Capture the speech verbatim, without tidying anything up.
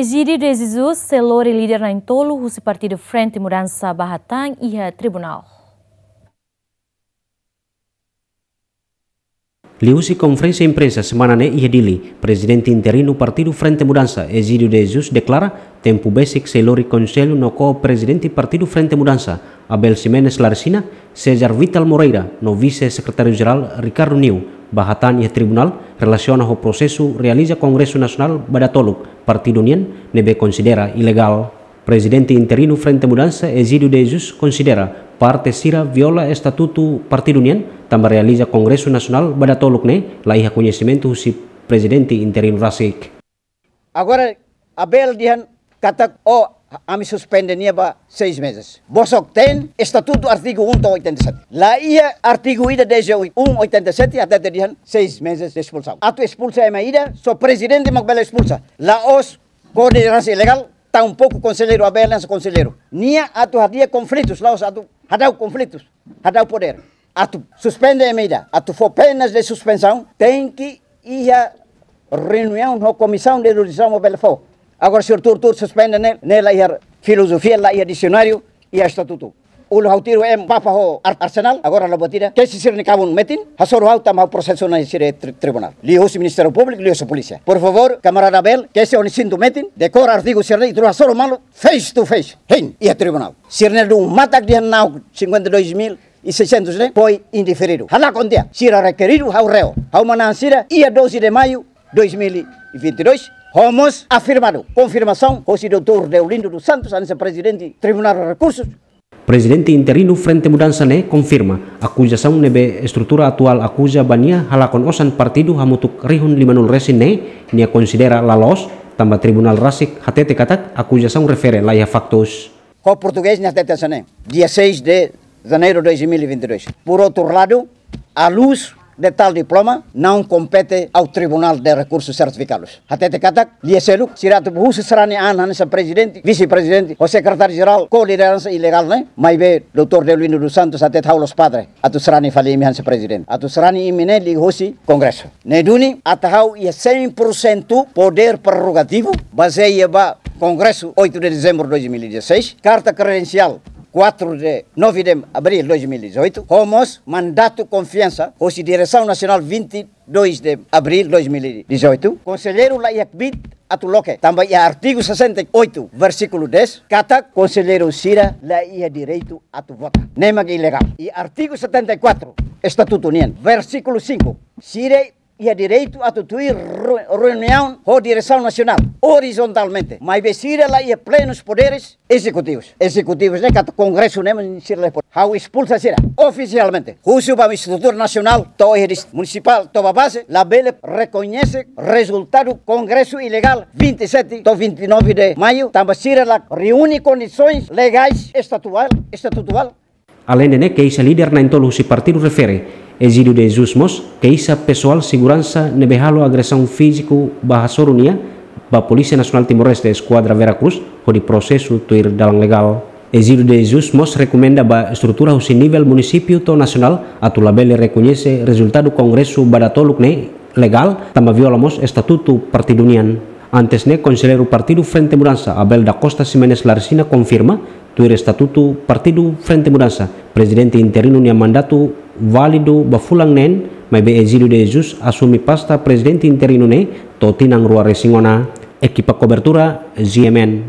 Egídio de Jesus sei lori líder na'in-tolu husi Partidu Frente Mudansa ba hatán iha tribunál. Liuhusi konferénsia imprensa semana ne'e iha Dili, Prezidente Interinu Partidu Frente Mudansa, Egídio de Jesus, deklara tempu besik sei lori konsellu no ko-prezidente Partidu Frente Mudansa, Abel Ximenes Laresina, César Vital Moreira, no Vise-Sekretáriu-Jerál Ricardo Niu, ba hatán iha tribunál relasiona ho prosesu realiza Kongresu Nasionál ba datoluk partidu nian ne'ebé konsidera ilegál. Prezidente Interinu Frente Mudansa, Egídio de Jesus, konsidera parte sira viola estatutu partidu nian, tanba realiza Kongresu Nasionál ba datoluk ne'e la iha koñesimentu husi Prezidente Interinu rasik. Agora, Abel dehan katak, "Oh, ami suspende nia ba seis meses." Bosok ten estatutu artigu um to'o oitenta e sete. La iha artigu ida dezeoito, um oitenta e sete, hatete dehan seis meses de expulsão. Atu espulsa ema ida, só prezidente mak bele espulsa. La'ós koordenasaun ilegál, tampouku konselleiru Abel hanesan konselleiru. Nia atu hadi'a konflitus, la'ós atu hadau konflitus, hadau podér. Atu suspende ema ida, atu fó penas de suspensaun, tenke iha reuniaun ho komisaun de jurisdisaun mak bele fó. Agora, señór, tuur-tuur suspende ne'e, ne'e la iha filozofia, la iha disionáriu, iha estatutu. Uluk ha'u tiru em papa ho Ar-, Arsenal, agora la buat ida. Kesi sira-nia kabun metin, hasoru ha'u tanba ha'u prosesu ona sira tri-, tribunál. Liuhusi Ministériu Públiku, liuhusi polísia. Por favór, kamarada Abel, kesi ó-nia sintu metin, dekora artigu sira-ne'e, tuur hasoru malu, face to face. Hein, iha tribunál. Sira-ne'e dún matak dehan na'ok cinquenta e dois mil e seiscentos ne'e, foi indeferidu. Halakon tiha, sira rekeridu, ha'u reo. Ha'u manán sira, iha doze de maio, dois mil e vinte e dois, ho mós afirmadu, konfirmasaun, hosi doutór Deolindo dos Santos, hanesan prezidente Tribunál Rekursus. Prezidente interinu Frente Mudansa ne'e konfirma, akuzasaun ne'ebé estrutura atuál akuza ba nia halakon osan partidu hamutuk rihun lima-nulu resin ne'e, nia konsidera la loos, tanba tribunál rasik hatete katak akuzasaun refere la iha faktus. Ho portugés nia hatete hanesan ne'e, dia seis de janeiro de dois mil e vinte e dois. Por outro lado, à luz de tal diploma, não compete ao Tribunal de Recursos Certificados. Hatete katak, lia seluk, sira atu husu sarani an hanesan prezidente, vise-prezidente, ho sekretáriu-jerál, ko-lideransa ilegál ne'e, maibé doutór Deolindo dos Santos hatete ha'u la'ós padre atu sarani fali imi hanesan prezidente. Atu sarani imi ne'e liuhusi Kongresu. Ne'e duni, atu ha'u iha cem por cento podér prerrogativu, bazeia ba Kongresu oito de dezembro de dois mil e dezasseis, karta kredensiál quatro de, nove de abril de dois mil e dezoito, ho mós mandatu konfiansa, hosi Diresaun Nasionál vinte e dois de abril de dois mil e dezoito, konselleiru la iha kbiit atu loke, tanba iha artigu sessenta e oito, versíkulu dez, katak konselleiru sira la iha direitu atu vota. Ne'e mak ilegál. I artigu setenta e quatro, estatutu nian, versíkulu cinco, sira iha direitu atu tuir re-, reuniaun ho Diresaun Nasionál, orizontalmente, maibé sira la iha plenus poderes ezekutivus. Ezekutivus ne'e katak Kongresu ne'e mak sira la iha poder. Ha'u espulsa sira ofisialmente. Husu ba estrutura nasionál, to'o iha dis-, munisipál, to'o ba baze, labele rekoñese rezultadu Kongresu ilegál vinte e sete to'o vinte e nove de maio, tanba sira la reúne kondisoens legais estatuál, estatutuál. Aleinde ne'e, keixa líder na'in-tolu husi partidu refere, Egídio de Jesus mós keixa pesoál seguransa ne'ebé halo agresaun fíziku ba hasoru nia ba Polísia Nasionál Timor-Leste Eskuadra Vera Cruz, hodi prosesu tuir dalan legál. Egídio de Jesus mós rekomenda ba estrutura husi nivel munisípiu to'o nasionál atu labele rekoñese rezultadu Kongresu ba datoluk ne'e legál, tanba viola mós estatutu partidu nian. Antes ne'e, konselleiru partidu Frente Mudansa, Abel da Costa Ximenes Laresina, konfirma, tuir estatutu partidu Frente Mudansa, prezidente interinu nia mandatu válidu ba fulan neen, maibé Egídio de Jesus asume pasta prezidente interinu ne'e to'o tinan rua resin ona. Ekipa kobertura, G M N.